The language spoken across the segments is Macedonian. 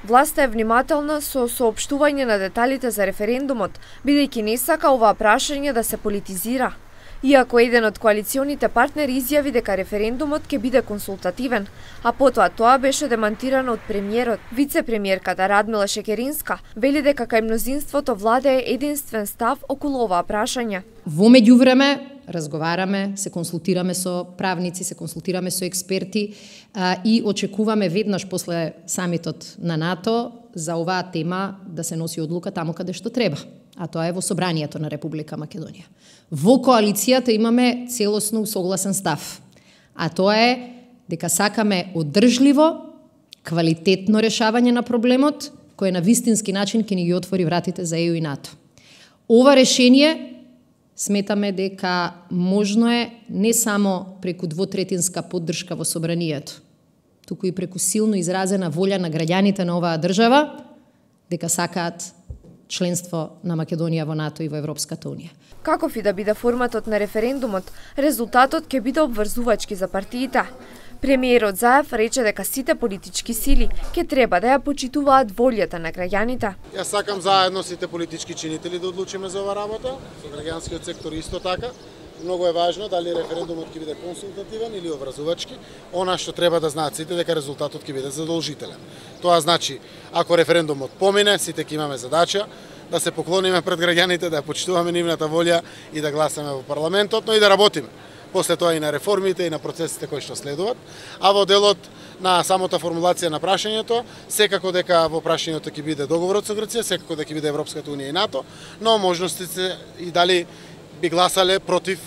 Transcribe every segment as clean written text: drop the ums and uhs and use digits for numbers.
Власта е внимателна со соопштување на деталите за референдумот, бидејќи не сака оваа прашање да се политизира. Иако еден од коалиционите партнери изјави дека референдумот ќе биде консултативен, а потоа тоа беше демантирано од премиерот, вице-премиерката Радмила Шекеринска вели дека кај мнозинството владее единствен став околу оваа прашање. Во меѓувреме разговараме, се консултираме со правници, се консултираме со експерти и очекуваме веднаш после самитот на НАТО за оваа тема да се носи одлука таму каде што треба, а тоа е во Собранието на Република Македонија. Во коалицијата имаме целосно усогласен став, а тоа е дека сакаме одржливо, квалитетно решавање на проблемот, кој на вистински начин ќе ни ги отвори вратите за ЕУ и НАТО. Ова решение сметаме дека можно е не само преку двотретинска поддршка во Собранието, туку и преку силно изразена волја на граѓаните на оваа држава дека сакаат членство на Македонија во НАТО и во Европската Унија. Каков и да биде форматот на референдумот, резултатот ќе биде обврзувачки за партиите. Премиерот Заев рече дека сите политички сили ќе треба да ја почитуваат волјата на граѓаните. Јас сакам заедно сите политички чинители да одлучиме за оваа работа, со граѓанскиот сектор исто така. Многу е важно дали референдумот ќе биде консултативен или обврзувачки. Она што треба да знаат сите дека резултатот ќе биде задолжителен. Тоа значи, ако референдумот помине, сите ќе имаме задача да се поклониме пред граѓаните, да ја почитуваме нивната волја и да гласаме во парламентот, но и да работиме. После тоа и на реформите и на процесите кои што следуваат. А во делот на самата формулација на прашањето, секако дека во прашањето ќе биде договорот со Грција, секако дека ќе биде Европската Унија и НАТО, но можностите и дали би гласале против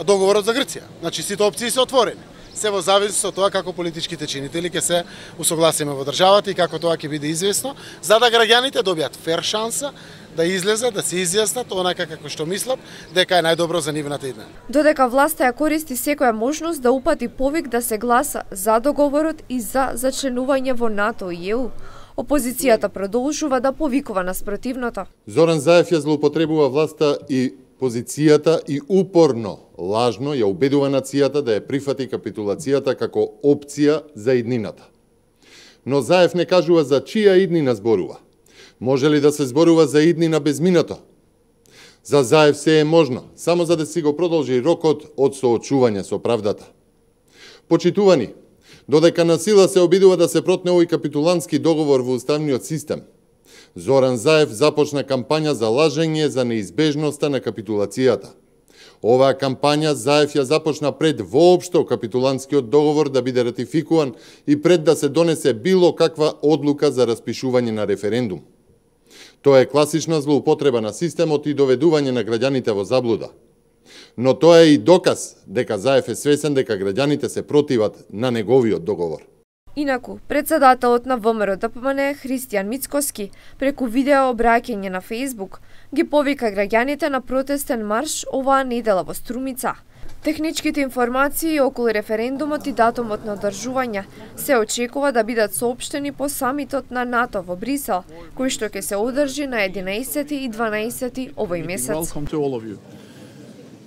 договорот за Грција. Значи сите опции се отворени. Се во зависност од тоа како политичките чинители ќе се усогласиме во државата и како тоа ќе биде известно, за да граѓаните добијат фер шанса да излезат, да се изјаснат онака како што мислат дека е најдобро за нивната иднина. Додека власта ја користи секоја можност да упати повик да се гласа за договорот и за зачленување во НАТО и ЕУ, опозицијата продолжува да повикува на спротивното. Зоран Заев ја злоупотребува власта и позицијата и упорно, лажно ја убедува нацијата да ја прифати капитулацијата како опција за иднината. Но Заев не кажува за чија иднина зборува. Може ли да се зборува за иднина без минато? За Заев се е можно, само за да си го продолжи рокот од соочување со правдата. Почитувани, додека на сила се обидува да се протне овој капитулантски договор во уставниот систем, Зоран Заев започна кампања за лажење за неизбежноста на капитулацијата. Оваа кампања Заев ја започна пред воопшто капитулантскиот договор да биде ратификуван и пред да се донесе било каква одлука за распишување на референдум. Тоа е класична злоупотреба на системот и доведување на граѓаните во заблуда. Но тоа е и доказ дека Заев е свесен дека граѓаните се противат на неговиот договор. Инаку, председателот на ВМРО-ДПМН Христијан Мицкоски преку видео обраќање на Facebook ги повика граѓаните на протестен марш оваа недела во Струмица. Техничките информации околу референдумот и датумот на одржување се очекува да бидат соопштени по самитот на НАТО во Брисел, кој што ќе се одржи на 11 и 12 овој месец.